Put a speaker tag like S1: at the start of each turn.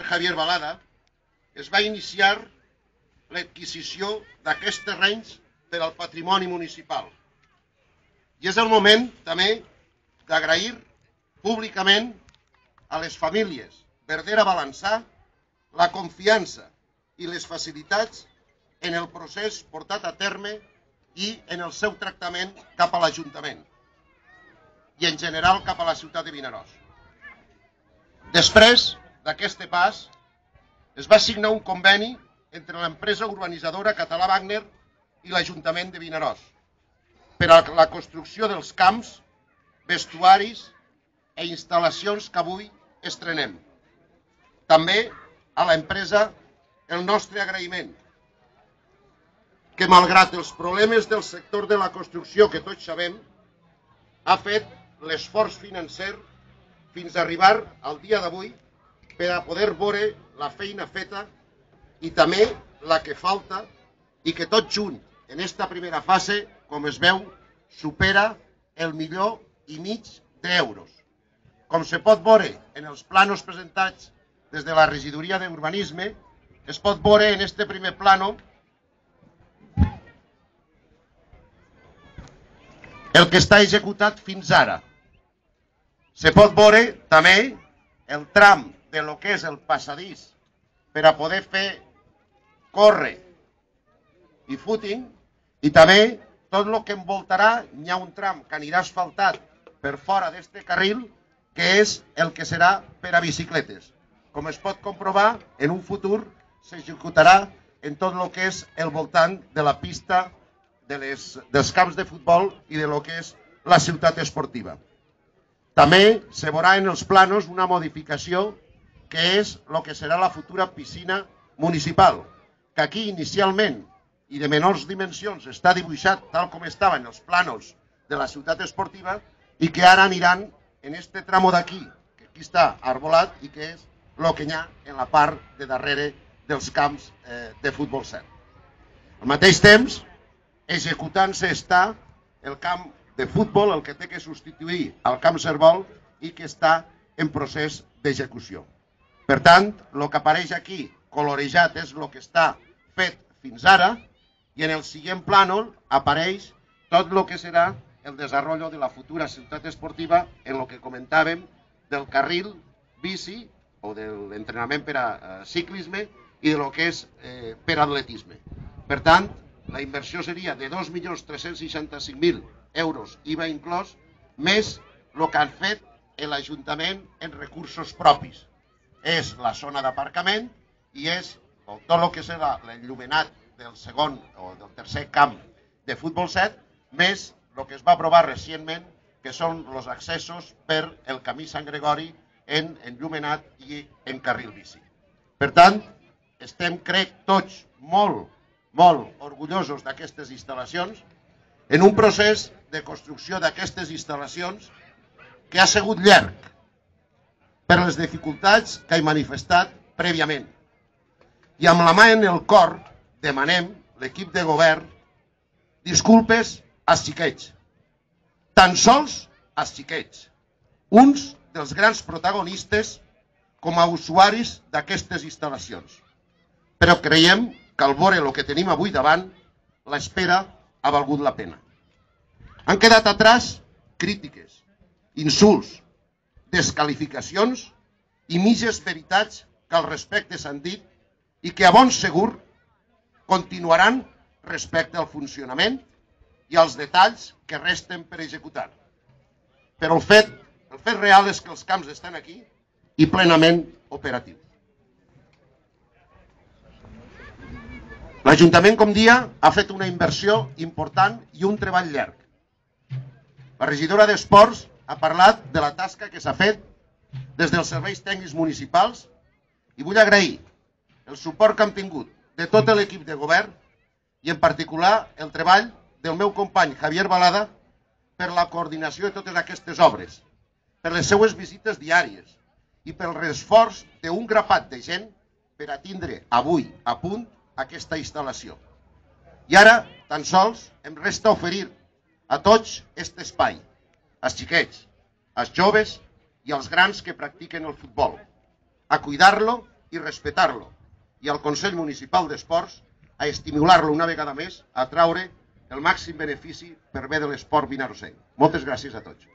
S1: Javier Balada, es va iniciar l'adquisició d'aquests terrenys per al patrimoni municipal. I és el moment també d'agrair públicament a les famílies Verdera Balançà la confiança i les facilitats en el procés portat a terme i en el seu tractament cap a l'Ajuntament i en general cap a la ciutat de Vinaròs. Després d'aquest pas es va signar un conveni entre l'empresa urbanitzadora Català Wagner i l'Ajuntament de Vinaròs per a la construcció dels camps, vestuaris i instal·lacions que avui estrenem. També a l'empresa el nostre agraïment, que malgrat els problemes del sector de la construcció que tots sabem, ha fet l'esforç financer fins a arribar al dia d'avui per a poder veure la feina feta i també la que falta i que tot junt en esta primera fase, com es veu, supera el 1,5 milió d'euros. Com se pot veure en els plànols presentats des de la regidoria d'urbanisme, es pot veure en este primer plànol el que està executat fins ara. Se pot veure també el tram de lo que és el passadís per a poder fer córrer i footing i també tot el que envoltarà. Hi ha un tram que anirà asfaltat per fora d'este carril que és el que serà per a bicicletes. Com es pot comprovar, en un futur s'executarà en tot el que és el voltant de la pista dels camps de futbol i de lo que és la ciutat esportiva. També se veurà en els planos una modificació que és el que serà la futura piscina municipal, que aquí inicialment i de menors dimensions està dibuixat tal com estava en els plànols de la ciutat esportiva i que ara aniran en este tramo d'aquí, que aquí està arbolat i que és el que hi ha en la part de darrere dels camps de futbol 7. Al mateix temps, executant-se està el camp de futbol, el que té que substituir al camp Servol i que està en procés d'execució. Per tant, el que apareix aquí colorejat és el que està fet fins ara i en el següent plànol apareix tot el que serà el desenvolupament de la futura ciutat esportiva en el que comentàvem del carril bici o de l'entrenament per a ciclisme i de lo que és per a atletisme. Per tant, la inversió seria de 2.365.000 euros IVA inclòs, més el que han fet l'Ajuntament en recursos propis. És la zona d'aparcament i és tot el que serà l'enllumenat del segon o del tercer camp de futbol 7, més el que es va aprovar recentment, que són els accessos per el camí Sant Gregori en enllumenat i en carril bici. Per tant, estem, crec, tots molt orgullosos d'aquestes instal·lacions, en un procés de construcció d'aquestes instal·lacions que ha sigut llarg per les dificultats que he manifestat prèviament. I amb la mà en el cor demanem, l'equip de govern, disculpes als xiquets, tan sols als xiquets, uns dels grans protagonistes com a usuaris d'aquestes instal·lacions. Però creiem que al veure el que tenim avui davant, l'espera ha valgut la pena. Han quedat atràs crítiques, insults, descalificacions i mitges veritats que al respecte s'han dit i que a bon segur continuaran respecte al funcionament i als detalls que resten per executar. Però el fet real és que els camps estan aquí i plenament operatius. L'Ajuntament, com dia, ha fet una inversió important i un treball llarg. La regidora d'Esports ha parlat de la tasca que s'ha fet des dels serveis tècnics municipals i vull agrair el suport que hem tingut de tot l'equip de govern i en particular el treball del meu company Javier Balada per la coordinació de totes aquestes obres, per les seues visites diàries i pel l'esforç d'un grapat de gent per a tindre avui a punt aquesta instal·lació. I ara tan sols em resta oferir a tots aquest espai, als xiquets, als joves i als grans que practiquen el futbol, a cuidar-lo i respectar-lo, i al Consell Municipal d'Esports a estimular-lo una vegada més a traure el màxim benefici per bé de l'esport vinarrosenc. Moltes gràcies a tots.